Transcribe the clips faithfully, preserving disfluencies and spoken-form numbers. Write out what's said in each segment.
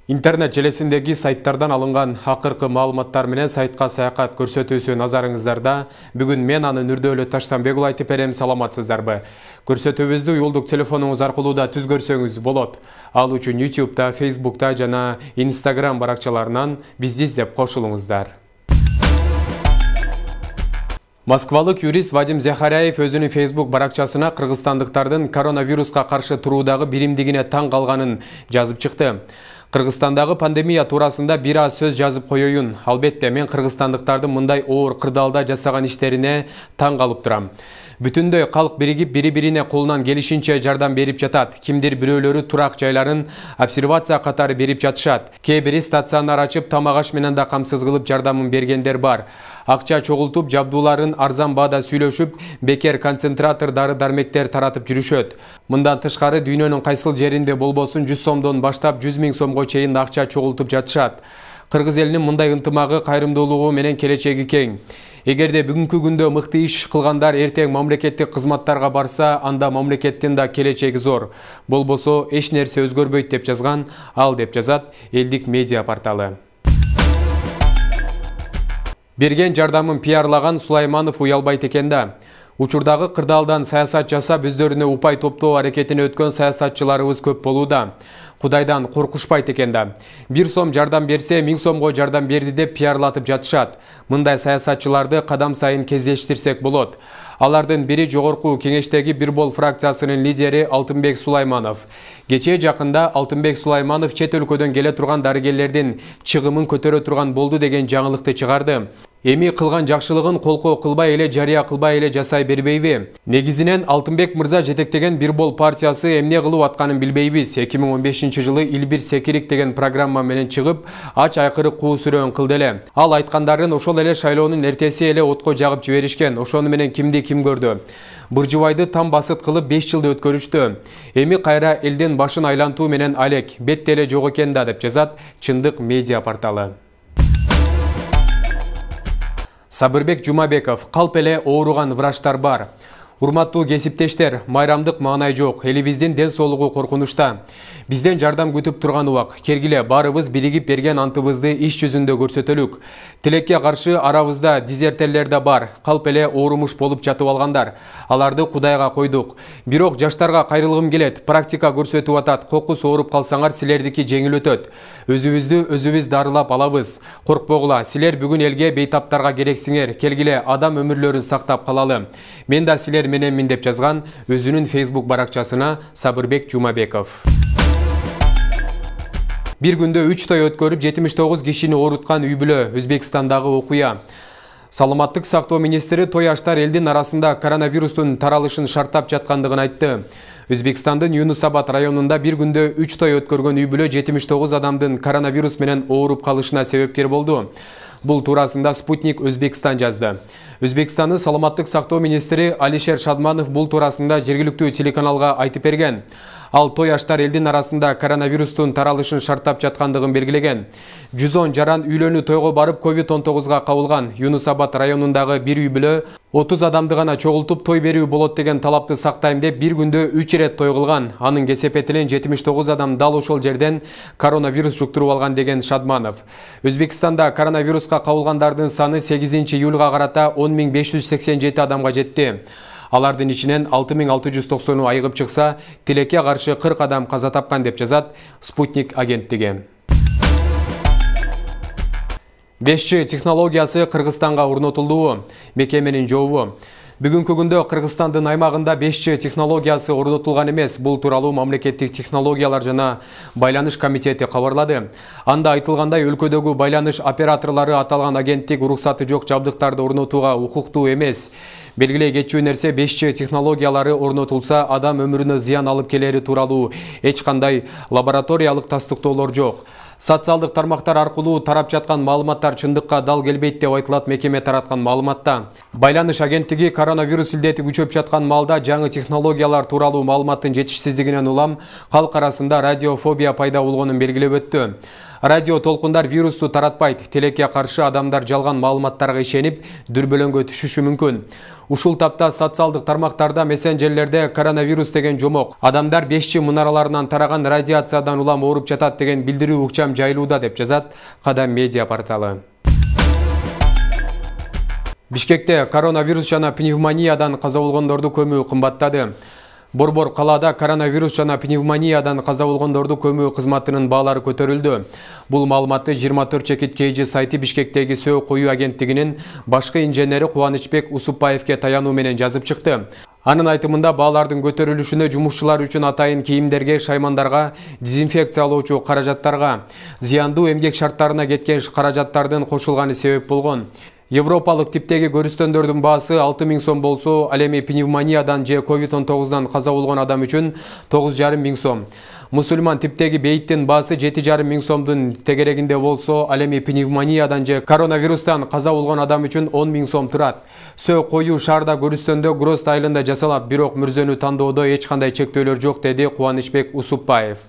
Интернет желесиндеги сайттардан алынган акыркы маалыматтар менен сайтка саякат көрсөтүүсү назарыңыздарда. Бүгүн мен анын үрдөлү Таштанбек уулу айтып берем, саламатсыздарбы? Көрсөтүүбүздү уюлдук телефонуңуз аркылуу да түзгөрсөңүз болот. Ал үчүн YouTube-та, Facebook-та жана Instagram баракчаларынан бизди издеп кошулуңуздар. Москвалык юрист Вадим Захаряев өзүнүн Facebook баракчасына кыргызстандыктардын коронавируска каршы туруудагы биримдигине таң калганын жазып чыкты. Кыргызстандагы пандемия туурасында бир аз сөз жазып коеюн. Албетте, мен кыргызстандыктардын мындай оор кырдаалда жасаган иштерине таң калып турам. Бүтүндөй калк биригип бири-бирине колунан келишинче жардам берип жатат. Кимдир бирөөлөрү турак жайларын обсервация катары берип жатышат. Кээ бири стационар ачып, тамак аш менен да камсыз кылып жардамын бергендер бар. Акча чогултуп, жабдууларын арзан баада сүйлөшүп, бекер концентратор дары-дармектер таратып жүрүшөт. Мындан тышкары дүйнөнүн кайсыл жеринде болбосун жүз сомдон баштап жүз миң сомго чейин акча чогултуп жатышат. Кыргыз элинин мындай ынтымагы, кайрымдуулугу менен келечеги кең. Эгерде бүгүнкү күндө мыкты иш кылгандар эртең мамлекеттик кызматтарга барса, анда мамлекеттин да келечеги зор. Болбосо эч нерсе өзгөрбөйт деп жазган ал, деп жазат элдик медиа порталы. Берген жардамын пиарлаган Сулайманов уялбайт экен да. Учурдагы кырдаалдан саясат жасап, өздөрүнө упай топтоо аракетине өткөн саясатчыларыбыз көп болууда. Кудайдан коркушпайт экен да. Бир сом жардам берсе, миң сомго жардам берди деп пиарлатып жатышат. Мындай саясатчыларды кадам сайын кездештирсек болот. Алардын бири жогорку кеңештеги Бир бол фракциясынын лидери Алтынбек Сулайманов. Кечээ жакында Алтынбек Сулайманов чет өлкөдөн келе турган дарыгерлердин чыгымын көтөрө турган болду деген жаңылыкты чыгарды. Эми кылган жакшылыгын колкоо кылбай эле, жарыя кылбай эле жасай бербейби? Негизинен Алтынбек мырза жетектеген Бир бол партиясы эмне кылып атканын билбейбиз. эки миң он бешинчи жылы Илбир Секирик деген программа менен чыгып, ач айкыры куу сүрөөн кылды эле. Ал айткандарын ошол эле шайлоонун эртеси эле отко жагып жиберишкен. Ошону менен кимди ким көрдү? Буржубайды там басыт кылып беш жылды өткөрүштү. Эми кайра элдин башын айлантуу менен алек, бетте эле жок экен да, деп жазат Чындык медиа порталы. Сабырбек Жумабеков: калп эле ооруган врачтар бар. Урматтуу кесиптештер, майрамдык маанай жок, элибиздин ден соолугу коркунучта. Бизден жардам күтүп турган убак. Кергиле, баарыбыз биригип берген антыбызды иш жүзүндө көрсөтөлүк. Тилекке каршы арабызда дизертерлер да бар. Калп эле оорумуш болуп жатып алгандар. Аларды Кудайга койдук. Бирок жаштарга кайрылгым келет. Практика көрсөтүп атат. Кокус ооруп калсаңар, силердики жеңил өтөт. Өзүбүздү өзүбүз дарылап алабыз. Коркпогула, силер бүгүн элге бейтаптарга керексиңер. Келгиле, адам өмүрлөрүн сактап калалы. Мен да силер мененмин, деп жазган өзүнүн Facebook баракчасына Сабырбек Жумабеков. Бир күндө үч той өткөрүп жетимиш тогуз кишини ооруткан үй бүлө. Өзбекстандагы окуя. Саламаттык сактоо министри той аштар элдин арасында коронавирустун таралышын шарттап жаткандыгын айтты. Өзбекстандын Юнусабад районунда бир күндө үч той өткөргөн үй бүлө жетимиш тогуз адамдын коронавирус менен ооруп калышына себепкер болду. Бул туурасында Спутник Өзбекстан жазды. Өзбекстандын саламаттык сактоо министри Алишер Шадманов бул туурасында жергиликтүү телеканалга айтып берген. Ал той аштар элдин арасында коронавирустун таралышын шарттап жаткандыгын белгилеген. жүз он жаран үйлөнүү тойго барып ковид он тогузга кабылган. Юнусабад районундагы бир үй бүлө отуз адамды гана чогултуп той берүү болот деген талапты сактайм деп бир күндө үч ирет той кылган. Анын кесепетинен жетимиш тогуз адам дал ошол жерден коронавирус жуктуруп алган деген Шадманов. Өзбекстанда коронавируска кабылгандардын саны сегизинчи июлга карата он миң беш жүз сексен жети адамга жетти. Алардын ичинен алты миң алты жүз токсону айыгып чыкса, тилекке каршы кырк адам каза тапкан, деп жазат Спутник агенттиги. беш джи технологиясы Кыргызстанга орнотулду. Мекеменин жообу. Бүгүнкү күндө Кыргызстандын аймагында беш джи технологиясы орнотулган эмес. Бул тууралуу мамлекеттик технологиялар жана байланыш комитети кабарлады. Анда айтылгандай, өлкөдөгү байланыш операторлору аталган агенттик уруксаты жок жабдыктарды орнотууга укуктуу эмес. Белгилей кетчү нерсе, беш джи технологиялары орнотулса, адам өмүрүнө зыян алып келери тууралуу эч кандай лабораториялык тастыктоолор жок. Социалдык тармактар аркылуу тарап жаткан маалыматтар чындыкка дал келбейт деп айтылат мекеме тараткан маалыматта. Байланыш агенттиги коронавирус илдети күчөп жаткан маалда жаңы технологиялар тууралуу маалыматтын жетишсиздигинен улам калк арасында радиофобия пайда болгонун белгилеп өттү. Радио толкундар вирусту таратпайт. Телекке каршы адамдар жалган маалыматтарга ишенип, дүрбөлөңгө түшүшү мүмкүн. Ушул тапта социалдык тармактарда, мессенджерлерде коронавирус деген жомок, адамдар беш джи мунараларынан тараган радиациядан улам ооруп жатат деген билдирүү укчам жайылууда деп жазат Кадам медиа порталы. Бишкекте коронавирус жана пневмониядан каза болгондорду көмүү кымбаттады. Борбор калаада коронавирус жана пневмониядан каза болгондорду көмүү кызматынын баалары көтөрүлдү. Бул маалыматты жыйырма төрт чекит кей джи сайты Бишкектеги сөө коюу агенттигинин башкы инженери Кубанычбек Усупбаевке таянуу менен жазып чыкты. Анын айтымында баалардын көтөрүлүшүнө жумушчулар үчүн атайын кийимдерге, шаймандарга, дезинфекциялоочу каражаттарга, зыяндуу эмгек шарттарына кеткен каражаттардын кошулганы себеп болгон. Европалык типтеги көрүстөндөрдүн баасы алты миң сом болсо, ал эми пневмониядан же ковид он тогуздан каза болгон адам үчүн тогуз жарым миң сом. Мусульман типтеги бейиттин баасы жети жарым миң сомдун тегерегинде болсо, ал эми пневмониядан же коронавирустан каза болгон адам үчүн он миң сом турат. Сөө коюу шаарда көрүстөндө Гроз айылында жасалат, бирок мүрзөнү тандоодо эч кандай чектөөлөр жок, деди Кубанычбек Усупбаев.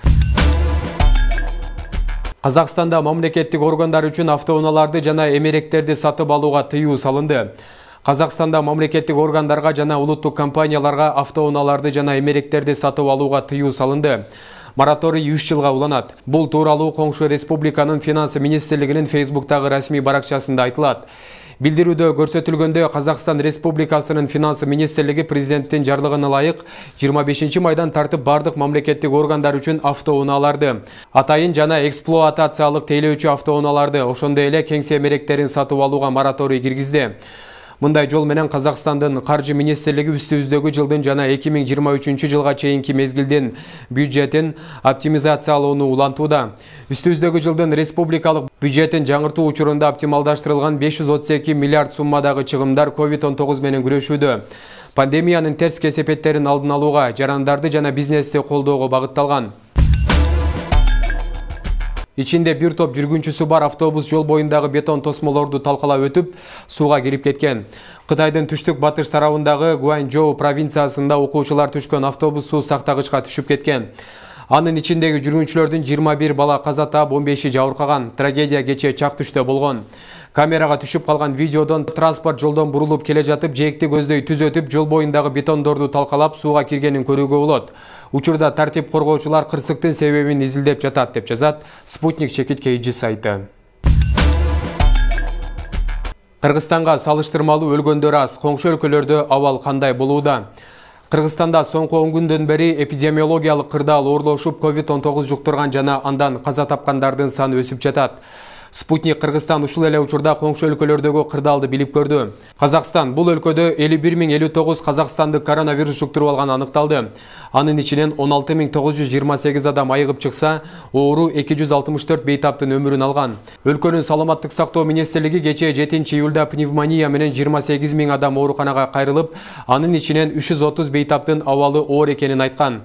Казакстанда мамлекеттик органдар үчүн автоунааларды жана эмеректерди сатып алууга тыюу салынды. Казакстанда мамлекеттик органдарга жана улуттук компанияларга автоунааларды жана эмеректерди сатып алууга тыюу салынды. Мораторий үч жылга уланат. Бул тууралуу коңшу республиканын финансы министрлигинин Фейсбуктагы расмий баракчасында айтылат. Билдирүүдө көрсөтүлгөндө, Казакстан Республикасынын финансы министрлиги президенттин жарлыгына ылайык жыйырма бешинчи майдан тартып бардык мамлекеттик органдар үчүн автоунааларды, атайын жана эксплуатациялык тейлөөчү автоунааларды, ошондой эле кеңсе эмеректерин сатып алууга мораторий киргизди. Мындай жол менен Казакстандын каржы министрлиги үстүбүздөгү жылдын жана эки миң жыйырма үчүнчү жылга чейинки мезгилдин бюджетин оптимизациялоону улантууда. Үстүбүздөгү жылдын республикалык бюджетин жаңыртуу учурунда оптималдаштырылган беш жүз отуз эки миллиард суммадагы чыгымдар ковид он тогуз менен күрөшүүдө. Пандемиянын терс кесепеттерин алдын алууга, жарандарды жана бизнести колдоого багытталган. Ичинде бир топ жүргүнчүсү бар автобус жол боюндагы бетон тосмолорду талкалап өтүп, сууга кирип кеткен. Кытайдын түштүк батыш тарабындагы Гуанчжоу провинциясында окуучулар түшкөн автобус суу сактагычка түшүп кеткен. Анын ичиндеги жүргүнчүлөрдүн жыйырма бир бала каза таап, он беши жабыркаган. Трагедия кечээ чак түштө болгон. Камерага түшүп калган видеодон транспорт жолдон бурулуп келе жатып, жээкти көздөй түз өтүп, жол боюндагы бетондорду талкалап сууга киргенин көрүүгө болот. Учурда тартип коргоочулар кырсыктын себебин изилдеп жатат, деп жазат Спутник чекит кей джи сайты. Кыргызстанга салыштырмалуу өлгөндөр аз. Коңшу өлкөлөрдө абал кандай болууда? Кыргызстанда соңку он күндөн бери эпидемиологиялык кырдаал оорлошуп, ковид он тогуз жуктурган жана андан каза тапкандардын саны өсүп жатат. Спутник Кыргызстан ушул эле учурда коңшу өлкөлөрдөгү кырдаалды билип көрдү. Казакстан бул өлкөдө элүү бир миң элүү тогуз казакстандык коронавирус жуктуруп алган аныкталды. Анын ичинен он алты миң тогуз жүз жыйырма сегиз адам айыгып чыкса, оору эки жүз алтымыш төрт бейтаптын өмүрүн алган. Өлкөнүн саламаттык сактоо министрлиги кечээ жетинчи июлда пневмония менен жыйырма сегиз миң адам ооруканага кайрылып, анын ичинен үч жүз отуз бейтаптын абалы оор экенин айткан.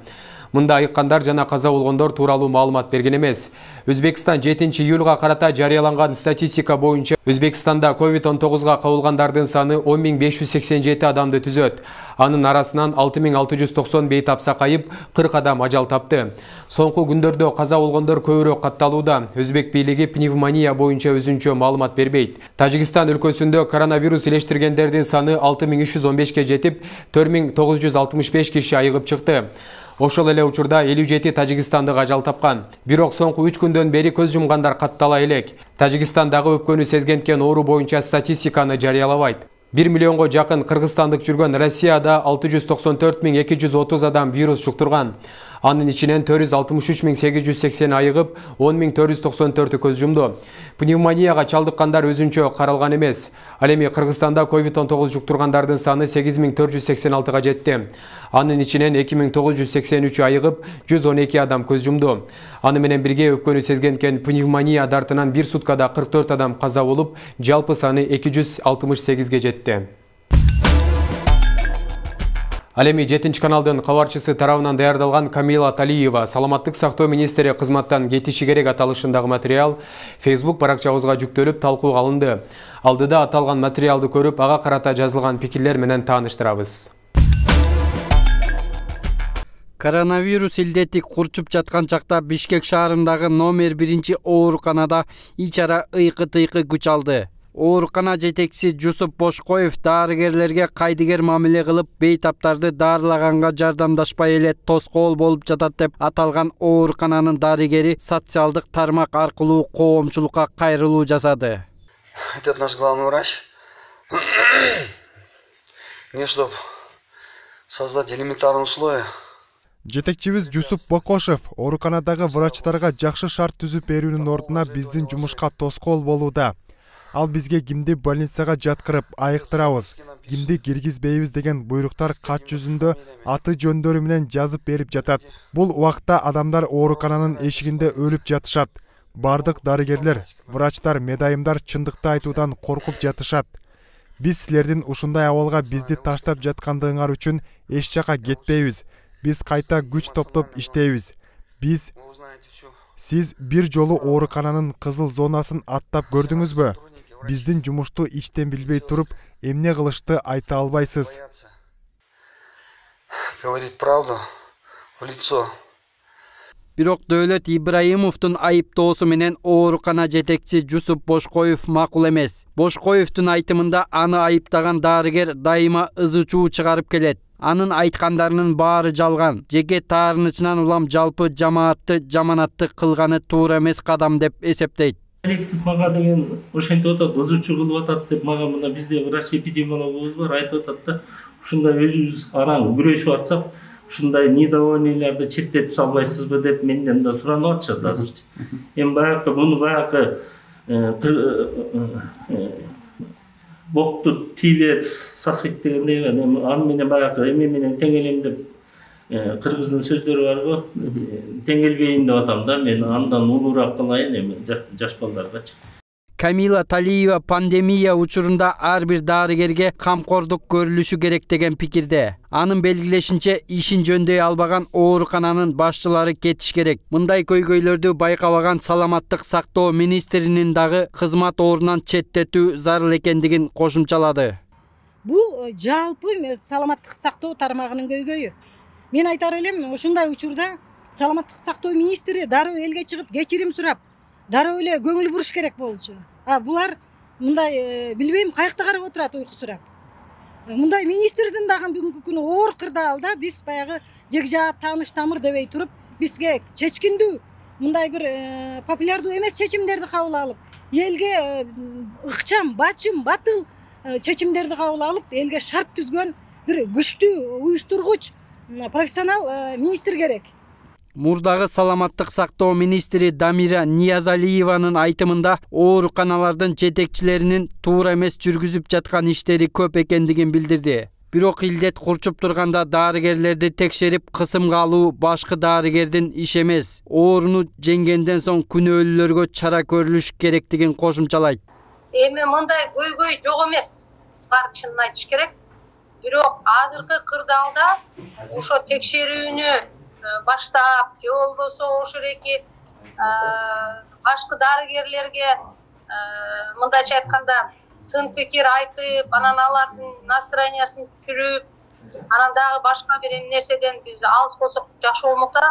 Мында айыккандар жана каза болгондор тууралуу маалымат берген эмес. Өзбекстан жетинчи июлга карата жарыяланган статистика боюнча Өзбекстанда ковид он тогузга кабылгандардын саны он миң беш жүз сексен жети адамды түзөт. Анын арасынан алты миң алты жүз токсон бейтап сакайып, кырк адам ажал тапты. Соңку күндөрдө каза болгондор көбүрөөк катталууда. Өзбек бийлиги пневмония боюнча өзүнчө маалымат бербейт. Тажикстан өлкөсүндө коронавирус илештиргендердин саны алты миң үч жүз он бешке жетип, төрт миң тогуз жүз алтымыш беш киши айыгып чыкты. Ошол эле учурда элүү жети тажикстандык ажал тапкан. Бирок соңку үч күндөн бери көз жумгандар каттала элек. Тажикстандагы өпкөнү сезгенткен оору боюнча статистиканы жарыялабайт. бир миллионго жакын кыргызстандык жүргөн Россияда алты жүз токсон төрт миң эки жүз отуз адам вирус жуктурган. Анын ичинен төрт жүз алтымыш үч миң сегиз жүз сексен айыгып, он миң төрт жүз токсон төртү көз жумду. Пневмонияга чалдыккандар өзүнчө каралган эмес. Ал эми Кыргызстанда ковид он тогуз жуктургандардын саны сегиз миң төрт жүз сексен алтыга жетти. Анын ичинен эки миң тогуз жүз сексен үчү айыгып, жүз он эки адам көз жумду. Аны менен бирге өпкөнү сезгенкен пневмония дартынан бир суткада кырк төрт адам каза болуп, жалпы саны эки жүз алтымыш сегизге жетти. Ал эми жетинчи каналдын кабарчысы тарабынан даярдалган Камила Талиева саламаттык сактоо министри кызматтан кетиши керек аталышындагы материал Facebook баракчабызга жүктөлүп талкууга алынды. Алдыда аталган материалды көрүп, ага карата жазылган пикирлер менен тааныштырабыз. Коронавирус илдети курчуп жаткан чакта Бишкек шаарындагы номер биринчи ооруканада ичара ыйкы-тыйкы күч алды. Оорукана жетекчиси Жусуп Бошкоев дарыгерлерге кайдыгер мамиле кылып, бейтаптарды дарылаганга жардамдашпай эле тоскоол болуп жатат деп аталган оорукананын дарыгери социалдык тармак аркылуу коомчулукка кайрылуу жасады. Это наш главный врач. Не чтоб создать элементарные условия. Жетекчибиз Жусуп Бокошев ооруканадагы врачтарга жакшы шарт түзүп берүүнүн ордуна биздин жумушка тоскоол болууда. Ал бизге кимди больницага жаткырып айыктырабыз, кимди киргизбейбиз деген буйруктар кат жүзүндө аты жөндөрү менен жазып берип жатат. Бул убакта адамдар оорукананын эшигинде өлүп жатышат. Бардык дарыгерлер, врачтар, медайымдар чындыкты айтуудан коркуп жатышат. Биз силердин ушундай абалга бизди таштап жаткандыгыңар үчүн эч жака кетпейбиз. Биз кайта күч топтоп иштейбиз. Биз Сиз бир жолу оорукананын кызыл зонасын аттап көрдүңүзбү? Биздин жумушту ичтен билбей туруп, эмне кылышты айта албайсыз. Говорит правду в лицо. Бирок Дөөлөт Ибраимовдун айыптоосу менен оорукана жетекчи Жусуп Бошкоев макул эмес. Бошкоевдун айтымында аны айыптаган дарыгер дайыма ызы чуу чыгарып келет. Анын айткандарынын баары жалган. Жеке таарынычынан улам жалпы жамаатты жаманатты кылганы туура эмес кадам деп эсептейт. Коллектив мага деген ошентип атат, ызы чуу кылып атат деп мага мына бизде врач эпидемиологубуз бар, айтып атат да, ушундай өзүбүз араң күрөшүп атсак, ушундай недовольныйларды четтетип салбайсызбы деп менден да суранып атышат азырчы. Эми баягы муну баягы бокту тийбе сасыйт дегендей, аны менен баягы эме менен теңелем деп кыргыздын сөздөрү барго, теңелбейин деп атам да, мен андан улуураак кылайын эми жаш балдаргачы. Камила Талиева пандемия учурунда ар бир дарыгерге камкордук көрүлүшү керек деген пикирде. Анын белгилешинче, ишин жөндөй албаган оорукананын башчылары кетиш керек. Мындай көйгөйлөрдү байкабаган саламаттык сактоо министринин дагы кызмат ордунан четтетүү зарыл экендигин кошумчалады. Бул жалпы саламаттык сактоо тармагынын көйгөйү. Мен айтар элем, ушундай учурда саламаттык сактоо министри дароо элге чыгып кечирим сурап, дароо эле көңүл буруш керек болчу. А булар мындай билбейм каякта карап отурат уйкусурап. Мындай министрдин дагы бүгүнкү күнү оор кырдаалда биз баягы жекжаат тааныш тамыр дебей туруп, бизге чечкиндүү, мындай бир популярдуу эмес чечимдерди кабыл алып, элге ыкчам, бачым, батыл чечимдерди кабыл алып, элге шарт түзгөн бир күчтүү уюштургуч профессионал министр керек. Мурдагы саламаттык сактоо министри Дамира Ниязалиеванын айтымында ооруканалардын жетекчилеринин туура эмес жүргүзүп жаткан иштери көп экендигин билдирди. Бирок илдет курчуп турганда дарыгерлерди текшерип кысымга алуу башкы дарыгердин иши эмес. Ооруну жеңгенден соң күнөөлүүлөргө чара көрүлүш керектигин кошумчалайт. Эми мындай көйгөй жок эмес. Бар чынын айтыш керек. Бирок азыркы кырдаалда ошо текшерүүнү баштап, же болбосо ошол эки башкы дарыгерлерге мындайча айтканда сын пикир айтып, анан алардын настроениясын түшүрүп, анан дагы башка бир нерседен биз алыс болсок жакшы болмок да.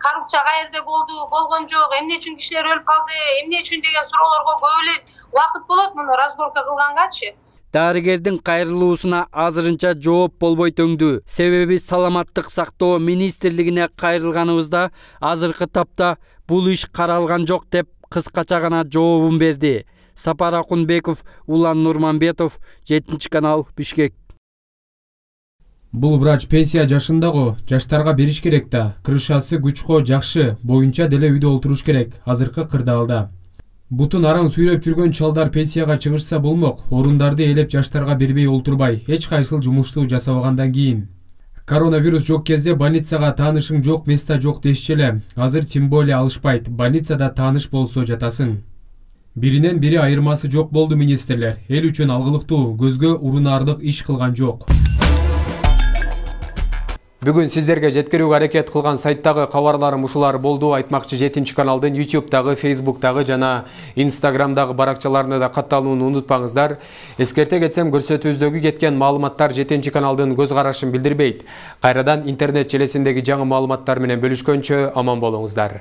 Коррупция каерде болду, болгон жок, эмне үчүн кишилер өлүп калды, эмне үчүн деген суроолорго көп эле убакыт болот муну разборка кылгангачы. Дарыгердин кайрылуусуна азырынча жооп болбой төңдү. Себеби саламаттык сактоо министрлигине кайрылганыбызда азыркы тапта бул иш каралган жок деп кыскача гана жообун берди. Сапар Акунбеков, Улан Нурманбетов, жетинчи канал, Бишкек. Бул врач пенсия жашындагы, жаштарга бериш керек да. Крышасы күчкө жакшы, боюнча деле үйдө олтуруш керек азыркы кырдаалда. Бутун араң сүйрөп жүргөн чалдар пенсияга чыгышса болмок, орундарды элеп жаштарга бербей олтурбай, эч кайсыл жумушту жасабагандан кийин. Коронавирус жок кезде больницага таанышың жок, места жок дешчи эле. Азыр тем более алышпайт, больницада тааныш болсо жатасың. Биринен бири айырмасы жок болду министрлер. Эл үчүн алгылыктуу, көзгө урунарлык иш кылган жок. Бүгүн сиздерге жеткирүүгө аракет кылган сайттагы кабарларым ушулар болду. Айтмакчы жетинчи каналдын YouTube-дагы, Facebook-дагы жана Instagram-дагы баракчаларына да катталууну унутпаңыздар. Эскерте кетсем, көрсөтүүбүздөгү кеткен маалыматтар жетинчи каналдын көз карашын билдирбейт. Кайрадан интернет желесиндеги жаңы маалыматтар менен бөлүшкөнчө аман болуңуздар.